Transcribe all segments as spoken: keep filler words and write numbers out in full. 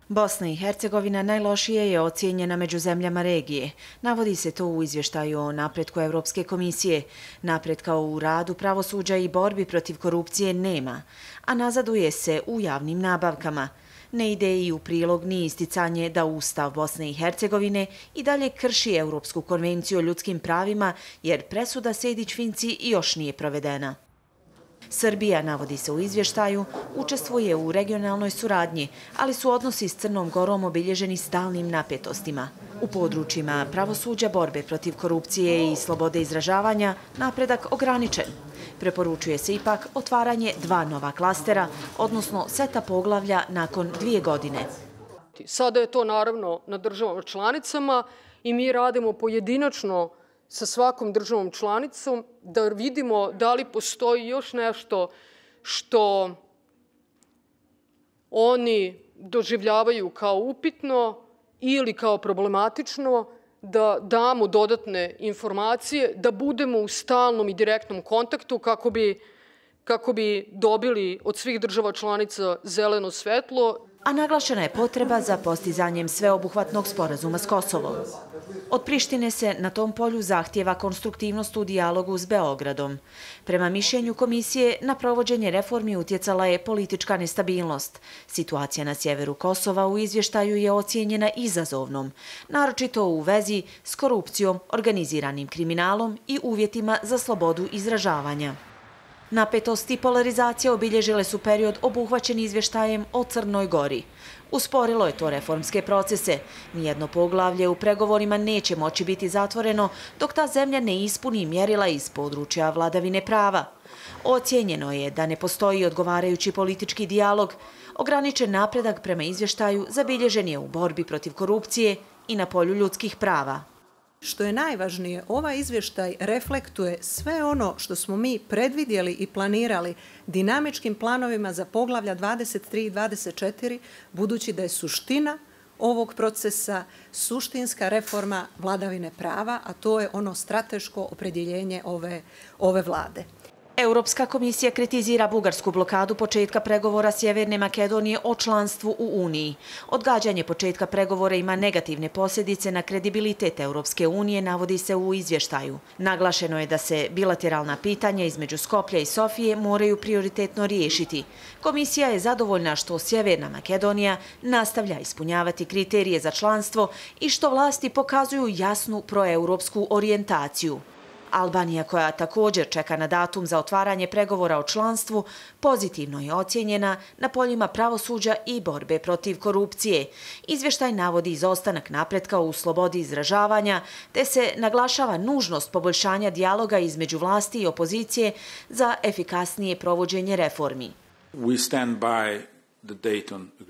Bosna i Hercegovina najlošije je ocijenjena među zemljama regije. Navodi se to u izvještaju o napretku Evropske komisije. Napretka u radu pravosuđa i borbi protiv korupcije nema, a nazaduje se u javnim nabavkama. Ne ide i u prilog ni isticanje da Ustav Bosne i Hercegovine i dalje krši Europsku konvenciju o ljudskim pravima, jer presuda Sejdić-Finci još nije provedena. Srbija, navodi se u izvještaju, učestvuje u regionalnoj suradnji, ali su odnosi s Crnom Gorom obilježeni stalnim napetostima. U područjima pravosuđa, borbe protiv korupcije i slobode izražavanja napredak ograničen. Preporučuje se ipak otvaranje dva nova klastera, odnosno seta poglavlja nakon dvije godine. Sada je to naravno na državama članicama i mi radimo pojedinačno sa svakom državom članicom da vidimo da li postoji još nešto što oni doživljavaju kao upitno ili kao problematično, da damo dodatne informacije, da budemo u stalnom i direktnom kontaktu kako bi, kako bi dobili od svih država članica zeleno svetlo. A naglašena je potreba za postizanjem sveobuhvatnog sporazuma s Kosovom. Od Prištine se na tom polju zahtijeva konstruktivnost u dijalogu s Beogradom. Prema mišljenju komisije, na provođenje reformi utjecala je politička nestabilnost. Situacija na sjeveru Kosova u izvještaju je ocijenjena izazovnom, naročito u vezi s korupcijom, organiziranim kriminalom i uvjetima za slobodu izražavanja. Napetost i polarizacija obilježile su period obuhvaćen izvještajem o Crnoj Gori. Usporilo je to reformske procese. Nijedno poglavlje u pregovorima neće moći biti zatvoreno dok ta zemlja ne ispuni mjerila iz područja vladavine prava. Ocijenjeno je da ne postoji odgovarajući politički dijalog. Ograničen napredak prema izvještaju zabilježen je u borbi protiv korupcije i na polju ljudskih prava. Što je najvažnije, ovaj izvještaj reflektuje sve ono što smo mi predvidjeli i planirali dinamičkim planovima za poglavlja dvadeset tri i dvadeset četiri, budući da je suština ovog procesa suštinska reforma vladavine prava, a to je ono strateško opredjeljenje ove, ove vlade. Europska komisija kritizira bugarsku blokadu početka pregovora Sjeverne Makedonije o članstvu u Uniji. Odgađanje početka pregovora ima negativne posljedice na kredibilitet Europske unije, navodi se u izvještaju. Naglašeno je da se bilateralna pitanja između Skoplja i Sofije moraju prioritetno riješiti. Komisija je zadovoljna što Sjeverna Makedonija nastavlja ispunjavati kriterije za članstvo i što vlasti pokazuju jasnu proeuropsku orijentaciju. Albanija, koja također čeka na datum za otvaranje pregovora o članstvu, pozitivno je ocijenjena na poljima pravosuđa i borbe protiv korupcije. Izvještaj navodi izostanak napretka u slobodi izražavanja, te se naglašava nužnost poboljšanja dijaloga između vlasti i opozicije za efikasnije provođenje reformi. We stand by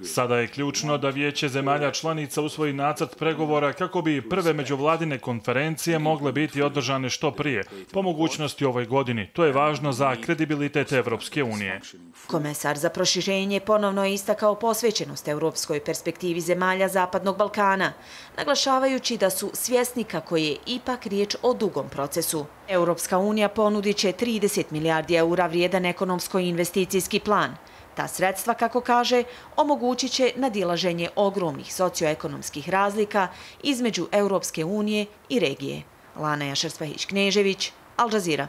Sada je ključno da Vijeće zemalja članica usvoji nacrt pregovora kako bi prve međuvladine konferencije mogle biti održane što prije, po mogućnosti ovoj godini. To je važno za kredibilitet Evropske unije. Komesar za proširenje ponovno je istakao posvećenost europskoj perspektivi zemalja Zapadnog Balkana, naglašavajući da su svjesni kako je ipak riječ o dugom procesu. Europska unija ponudit će trideset milijardi eura vrijedan ekonomsko-investicijski plan. Ta sredstva, kako kaže, omogućit će nadilaženje ogromnih socioekonomskih razlika između Europske unije i regije. Lana Jašar-Spahić-Knežević, Al Jazeera.